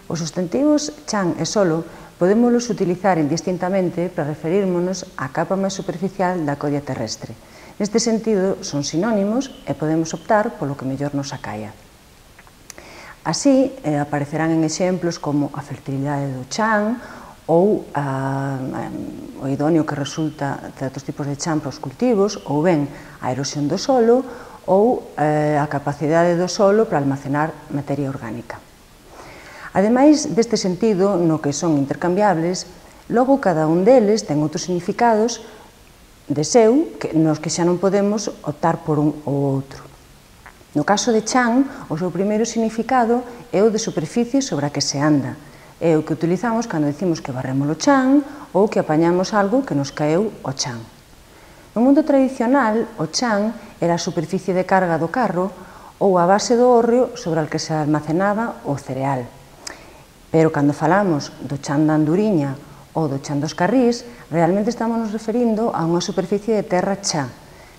Os substantivos chan e solo podémolos utilizar indistintamente para referírmonos á capa máis superficial da codia terrestre. Neste sentido, son sinónimos e podemos optar polo que mellor nos acaia. Así, aparecerán en exemplos como a fertilidade do chan ou o idóneo que resulta de outros tipos de chan para os cultivos, ou ben a erosión do solo ou a capacidade do solo para almacenar materia orgánica. Ademais deste sentido, no que son intercambiables, logo cada un deles ten outros significados de seu nos que xa non podemos optar por un ou outro. No caso de chan, o seu primeiro significado é o de superficie sobre a que se anda. É o que utilizamos cando dicimos que barremos o chan ou que apañamos algo que nos caeu o chan. No mundo tradicional, o chan era a superficie de carga do carro ou a base do hórreo sobre a que se almacenaba o cereal. Pero cando falamos do chan da anduriña ou do chan dos carrís, realmente estamos nos referindo a unha superficie de terra chá.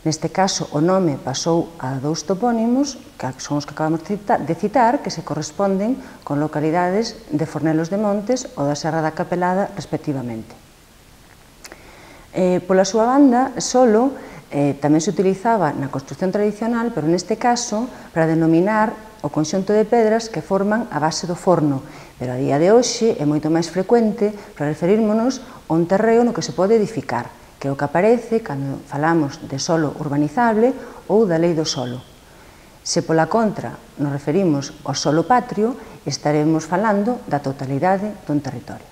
Neste caso, o nome pasou a dous topónimos, que son os que acabamos de citar, que se corresponden con localidades de Fornelos de Montes ou da Serra da Capelada, respectivamente. Pola súa banda, solo tamén se utilizaba na construción tradicional, pero neste caso para denominar o conxunto de pedras que forman a base do forno, pero a día de hoxe é moito máis frecuente para referírmonos a un terreo no que se pode edificar, que é o que aparece cando falamos de solo urbanizable ou da lei do solo. Se pola contra nos referimos ao solo patrio, estaremos falando da totalidade dun territorio.